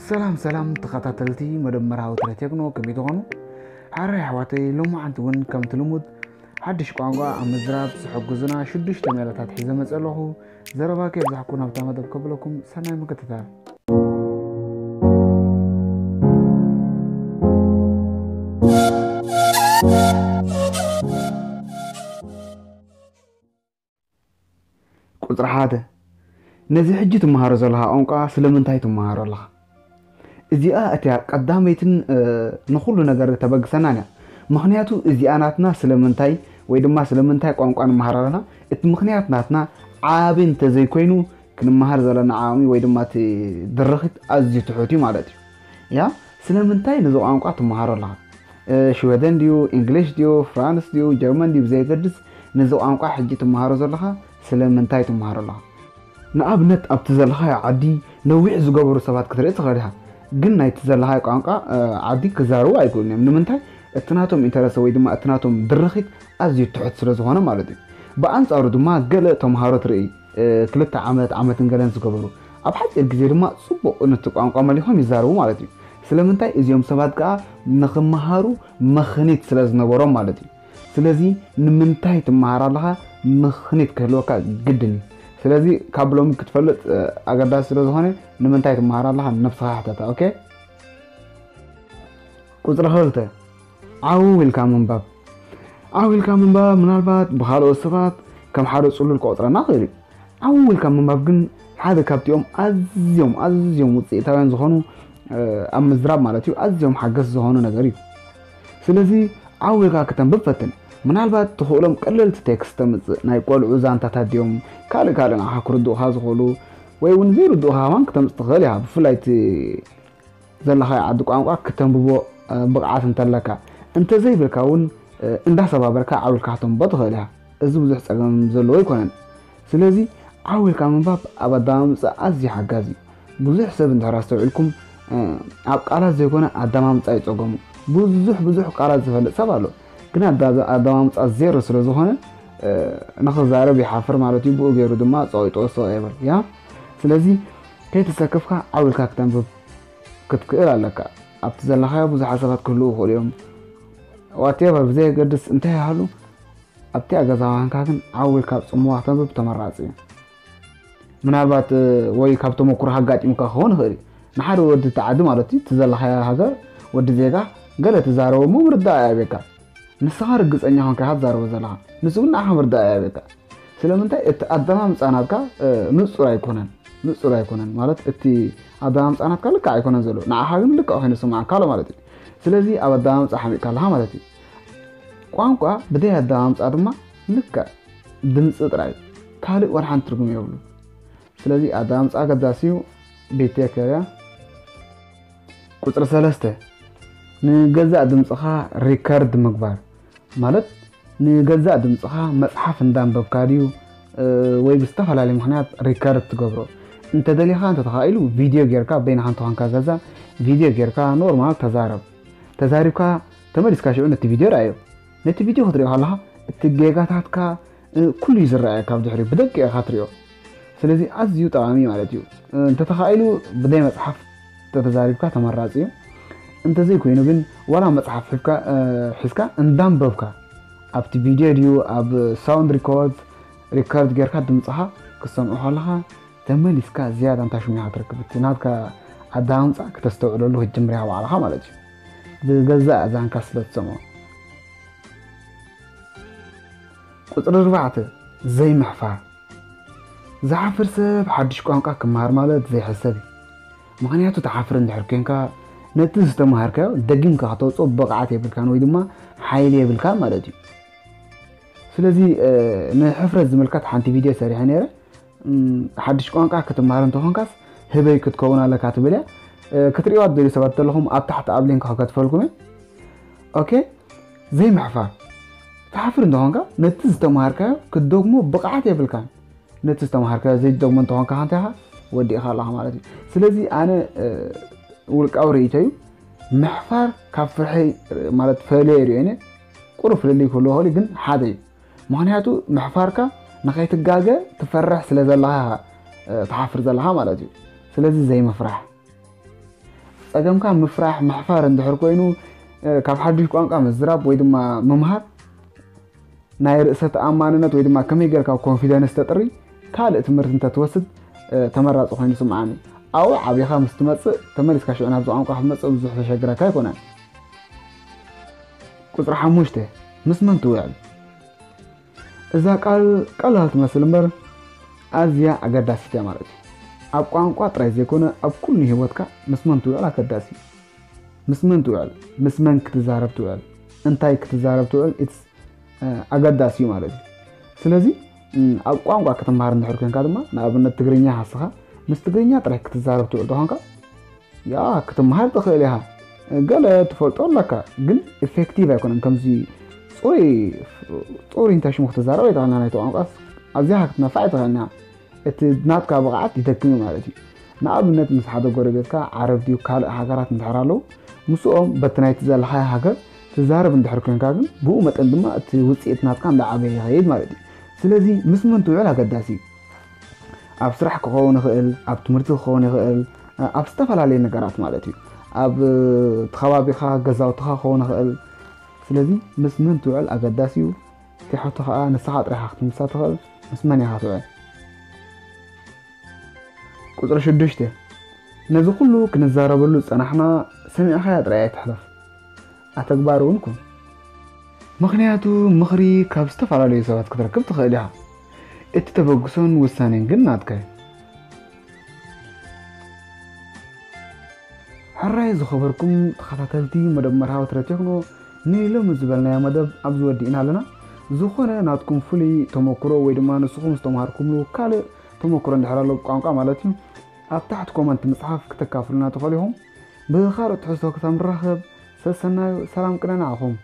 ሰላም ሰላም ተኸታተልቲ መደብ መርሃዊ ትረ ቴክኖ፣ ከመይ ትኾኑ? ሓራይ ኣሕዋተይ፣ ሎማዓንቲ እውን ከምቲ ልሙድ ሓድሽ ቋንቋ ኣብ ምዝራብ ዝሕግዙና ሽዱሽተ ሜላታት ሒዘ መጸ ኣለኹ። ዘረባ ከየብዛሕኩ ናብታ መደብ ከብለኩም፣ ሰናይ ምክትታል። ቁጽሪ ሓደ፣ ነዚ ሕጂ ትመሃሮ ዘለኻ ቋንቋ ስለምንታይ ትመሃሮ ኣለኻ? እዚኣ እቲያ ቀዳመይትን፣ እ፣ ንኹሉ ነገር ተበግሰናን እያ። ምኽንያቱ እዚኣ ናትና ስለምንታይ ወይ ድማ ስለምንታይ ቋንቋ ንመሃር ኣለና፣ እቲ ምኽንያት ናትና ዓቢ እንተዘይኮይኑ፣ ክንመሃር ዘለና ዓቕሚ ወይ ድማ እቲ ድርኺት ኣዝዩ ትሑት እዩ ማለት እዩ። ያ፣ ስለምንታይ ነዚ ቋንቋ ትመሃሮ ኣለኻ? እ፣ ሽወደን ድዩ፣ እንግሊሽ ድዩ፣ ፍራንስ ድዩ፣ ጀርመን ድዩ፣ ብዘየገድስ ነዚ ቋንቋ ሕጂ ትመሃሮ ዘለኻ ስለምንታይ ትመሃሮ ኣለኻ? ንኣብነት ኣብቲ ዘለኻዮ ዓዲ ነዊሕ ዝገበሩ ሰባት ክትርኢ ትኽእል ኢኻ። ግን ናይቲ ዘለኻዮ ቋንቋ፣ እ፣ ዓዲ ክዛረቡ ኣይክእሉን እዮም። ንምንታይ? እቲ ናቶም ኢንተረስት ወይ ድማ እቲ ናቶም ድርኺት ኣዝዩ ትሑት ስለ ዝኾነ ማለት እዩ። ብኣንጻሩ ድማ ገለ ተምሃሮ ትርኢ፣ እ፣ ክልተ ዓመት፣ ዓመትን ገለን ዝገበሩ፣ ኣብ ሓጺር ግዜ ድማ ጽቡቕ ነቲ ቋንቋ መሊኾም ይዛረቡ ማለት እዩ። ስለምንታይ? እዚኦም ሰባት ከኣ ንኽመሃሩ ምኽኒት ስለ ዝነበሮም ማለት እዩ። ስለዚ ንምንታይ ትመሃር ኣለኻ ምኽኒት ክህልወካ ግድን እዩ። ስለዚ ካብ ሎሚ ክትፈልጥ፣ እ፣ ኣገዳሲ ስለ ዝኾነ ንምንታይ ትመሃር ኣለኻ ንነብስኻ ሕተታ። ኦኬ? ቁጽሪ ክልተ፣ ዓው ኢልካ ምንባብ። ዓው ኢልካ ምንባብ ምናልባት ብኻልኦት ሰባት ከም ሓደ ጽሉል ክቆጽረና ክእል እዩ። ዓው ኢልካ ምንባብ ግን ሓደ ካብቲኦም ኣዝዮም፣ ኣዝዮም ውጽኢታውያን ዝኾኑ፣ እ፣ ኣብ ምዝራብ ማለት እዩ፣ ኣዝዮም ሓገስ ዝኾኑ ነገር እዩ። ስለዚ ዓው ኢልካ ክተንብብ ፈትን። ምናልባት ትኽእሎም ቀለልቲ ቴክስት ተምጽእ፣ ናይ ቆልዑ ዛንታታት ድዮም፣ ካልእ ካልእ ንዓኻ ክርድኡኻ ዝኽእሉ፣ ወይ እውን ዘይርድኡኻ ከማን ክተምጽእ ትኽእል ኢኻ። ብፍላይ እቲ ዘለኻዮ ዓዲ ቋንቋ ክተንብቦ፣ እ፣ ብቕዓት እንተለካ። እንተዘይብልካ እውን፣ እ፣ እንዳሰባበርካ ዓው ኢልካ ክተንብቦ ትኽእል ኢኻ። እዚ ብዙሕ ጸገም ዘለዎ ኣይኮነን። ስለዚ ዓው ኢልካ ምንባብ ኣብ ኣደማምጻ ኣዝዩ ሓጋዚ እዩ። ብዙሕ ሰብ እንድሕር ኣስተውዒልኩም፣ እ፣ ኣብ ቃላት ዘይኮነ ኣደማምጻ እዩ ጸገሙ። ብዙሕ ብዙሕ ቃላት ዝፈልጥ ሰብ ኣሎ፣ ግን ኣዳ-፣ ኣደማምጻ ዜሮ ስለ ዝኾነ፣ እ፣ ንኽዛረብ ይሓፍር ማለት እዩ። ብኡ ገይሩ ድማ ጸቒጡ ስቕ ይብል። ያ፣ ስለዚ ከይተሰከፍካ ዓው ኢልካ ክተንብብ ክትክእል ኣለካ። ኣብቲ ዘለኻዮ ብዙሓት ሰባት ክህልዉ ይኽእሉ እዮም። ዋቴቨር፣ ብዘየገድስ እንታይ ይሃሉ፣ ኣብቲ ኣገዛዋንካ ግን ዓው ኢልካ ኣብ ጽምዋ ክተንብብ ተመራጺ እዩ። ምናልባት፣ እ፣ ወይ ካብ ተመኩሮ ኣጋጢሙካ ክኸውን ይኽእል እዩ። ንሓደ ወዲ እቲ ዓዲ ማለት እዩ፣ እቲ ዘለኻዮ ሃገር ወዲ ዜጋ ገለ ትዛረቦ እሞ ምርዳእ ኣየብካ። ንስኻ ርግጸኛ ኮንካ ኢኻ ትዛረቦ ዘለኻ። ንሱ ግን ንዓኻ ምርዳእ ኣየብካ። ስለምንታይ? እቲ ኣደማምጻ ናትካ፣ እ፣ ንጹር ኣይኮነን። ንጹር ኣይኮነን ማለት እቲ ኣደማምጻ ናትካ ልክዕ ኣይኮነን ዘሎ። ንዓኻ ግን ልክዕ ኮይኑ ይስምዓካ ኣሎ ማለት እዩ። ስለዚ ኣብ ኣደማምጻ ሓሚቕካ ኣለኻ ማለት እዩ። ቋንቋ ብደይ ኣደማምጻ ድማ ልክዕ ድምጺ ጥራይ፣ ካልእ ወላ ሓንቲ ትርጉም የብሉ። ስለዚ ኣደማምጻ ኣገዳሲ እዩ። ቤት ቴከር እያ። ቁጽሪ ሰለስተ፣ ንገዛእ ድምጽኻ ሪከርድ ምግባር። ማለት ንገዛእ ድምጽኻ መጽሓፍ እንዳንበብካ ድዩ፣ እ፣ ወይ ብዝተፈላለየ ምኽንያት ሪከርድ ትገብሮ። እንተደሊኻ እንተተኻኢሉ ቪድዮ ጌርካ በይንኻ እንተኾንካ ገዛ ቪድዮ ጌርካ ኖርማል ተዛረብ። ተዛሪብካ ተመሊስካ ሽዑ ነቲ ቪድዮ ረኣዮ። ነቲ ቪድዮ ክትሪኦ ከለኻ እቲ ጌጋታትካ፣ እ፣ ኩሉ እዩ ዝረኣየካ። ኣብ ድሕሪኡ ብደቂቕ ኢኻ ትሪኦ። ስለዚ ኣዝዩ ጠቓሚ ማለት እዩ። እ፣ እንተተኻኢሉ ብደይ መጽሓፍ ተተዛሪብካ ተመራጺ እዩ። እንተዘይኮይኑ ግን ዋላ መጽሓፍ ሒዝካ፣ እ፣ ሒዝካ እንዳንበብካ ኣብቲ ቪድዮ ድዩ ኣብ ሳውንድ ሪኮርድ፣ ሪከርድ ጌርካ ድምጽኻ ክትሰምዖ ከለኻ ተመሊስካ ዝያዳ እንታይ ሽሚኻ ትረክብ። እቲ ናትካ ኣደማምጻ ክተስተውዕለሉ ክትጅምር ኢኻ ባዕልኻ ማለት እዩ። ብገዛእ ኣዛንካ ስለ ትሰምዖ። ቁጽሪ ኣርባዕተ፣ ዘይምሕፋር። ዝሓፍር ሰብ ሓድሽ ቋንቋ ክመሃር ማለት ዘይሕሰብ እዩ። ምኽንያቱ ትሓፍር እንድሕር ኮንካ ነቲ ዝተምሃርካዮ ደጊምካ ከተውጽኦ ብቕዓት የብልካን ወይ ድማ ሓይሊ የብልካን ማለት እዩ። ስለዚ፣ እ፣ ንሕፍረት ዝምልከት ሓንቲ ቪድዮ ሰሪሐ ነይረ። እም፣ ሓድሽ ቋንቋ ክትመሃር እንተኾንካስ ህበይ ክትከውን ኣለካ ትብል እያ። እ፣ ክትርእይዋ ትደልዩ ሰባት ዘለኹም ኣብ ታሕቲ ኣብ ሊንክ ክከትፈልኩም እየ። ኦኬ፣ ዘይምሕፋር። ትሓፍር እንተኾንካ ነቲ ዝተምሃርካዮ ክትደግሞ ብቕዓት የብልካን። ነቲ ዝተምሃርካዮ ዘይትደግሞ እንተኾንካ ከ እንታይ ኢኻ? ወዲእኻ ኣለኻ ማለት እዩ። ስለዚ ኣነ፣ እ፣ ውልቃዊ ርእይቶ እዩ። ምሕፋር ካብ ፍርሒ፣ እ፣ ማለት ፈልየ ይርእዮ እየ። ቁሩብ ፍልልይ ክህልዎ ይኽእል እዩ፣ ግን ሓደ እዩ። ምኽንያቱ ምሕፋርካ ንኸይትጋገ ትፈርሕ ስለ ዘለኻ ኢኻ፣ እ፣ ትሓፍር ዘለኻ ማለት እዩ። ስለዚ ዘይምፍራሕ። ጸገምካ ምፍራሕ ምሕፋር እንድሕር ኮይኑ፣ ካብ ሓድሽ ቋንቋ ምዝራብ ወይ ድማ ምምሃር ናይ ርእሰ ተኣማንነት ወይ ድማ ከመይ ጌርካ ኮንፊደንስ ተጥሪ ካልእ ትምህርቲ እንተትወስድ ተመራፂ ኮይኑ ይስምዓኒ። ኣብኡ ዓቢኻ ምስ ትመፅእ ተመሊስካ ሽዑ ናብዚ ቋንቋ ክትመፅእ ብዙሕ ዘሸግረካ ኣይኮነን። ቁፅሪ ሓሙሽተ፣ ምስ መን ትውዕል? እዛ ቃል ቀላል ትመስል እምበር ኣዝያ ኣገዳሲት እያ ማለት እዩ። ኣብ ቋንቋ ጥራይ ዘይኮነ ኣብ ኩሉ ህይወትካ ምስ መን ትውዕል ኣገዳሲ እዩ። ምስ መን ትውዕል፣ ምስ መን ክትዛረብ ትውዕል፣ እንታይ ክትዛረብ ትውዕል ኢትስ ኣገዳሲ እዩ ማለት እዩ። ስለዚ ኣብ ቋንቋ ክትምሃር እንድሕር ኮንካ ድማ ንኣብነት ትግርኛ ሃስኻ ምስ ትግርኛ ጥራይ ክትዛረብ ትውዕል ተኾንካ ያ ክትምሃር ትኽእል ኢኻ። ገለ ትፈልጦ ኣለካ ግን ኢፌክቲቭ ኣይኮነን። ከምዚ ፅሩይ ፅሩይ እንታይ ሽሙ ክትዛረብ ኣይትኽእልና ናይቲ ቋንቋስ ኣዚኻ ክትነፋዕ ኣይትኽእልና። እቲ ናትካ ብቕዓት ይደክም እዩ ማለት እዩ። ንኣብነት ምስ ሓደ ጎረቤትካ ዓረብ ድዩ ካልእ ሃገራት እንድሕር ኣለዉ ምስኦም በቲ ናይቲ ዘለኻዮ ሃገር ትዛረብ እንድሕር ኮንካ ግን ብኡ መጠን ድማ እቲ ውፅኢት ናትካ እንዳዓበየ ይኸይድ ማለት እዩ። ስለዚ ምስ መን ትውዕል ኣገዳሲ እዩ። ኣብ ስራሕ ክኸውን ይኽእል፣ ኣብ ትምህርቲ ክኸውን ይኽእል፣ ኣብ ዝተፈላለዩ ነገራት ማለት እዩ። ኣብ እቲ ከባቢኻ ገዛውትኻ ክኸውን ይኽእል። ስለዚ ምስ መን ትውዕል ኣገዳሲ እዩ። እቲ ሕቶ ከዓ ንስኻ ጥራይኻ ክትምልሳ ትኽእል፣ ምስ መን ኢኻ ትውዕል? ቁፅሪ ሽዱሽተ፣ ነዚ ኩሉ ክንዛረበሉ ዝፀናሕና ሰሚዕኻያ ጥራይ ኣይትሕለፍ፣ ኣተግባሪ እውን ኩን። ምኽንያቱ ምኽሪ ካብ ዝተፈላለዩ ሰባት ክትረክብ ትኽእል ኢኻ። እቲ ተበግሶን ውሳኔን ግን ናትካ እዩ። ሕራይ ዝኸበርኩም ተኸታተልቲ መደብ መርሃዊ ትረ ቴክኖ ንሎሚ ዝበልናዮ መደብ ኣብዚ ወዲእና ኣለና። ዝኾነ ናትኩም ፍሉይ ተመክሮ ወይ ድማ ንስኹም ዝተምሃርኩምሉ ካልእ ተመክሮ እንድሕር ኣሎ ቋንቋ ማለት እዩ ኣብ ታሕቲ ኮመንት ምፅሓፍ ክተካፍሉና ትኽእሉ ኢኹም። ብኻልኦት ትሕዝቶ ክሳብ ንራኸብ ሰሰናዩ ሰላም ቅነ ንዓኹም።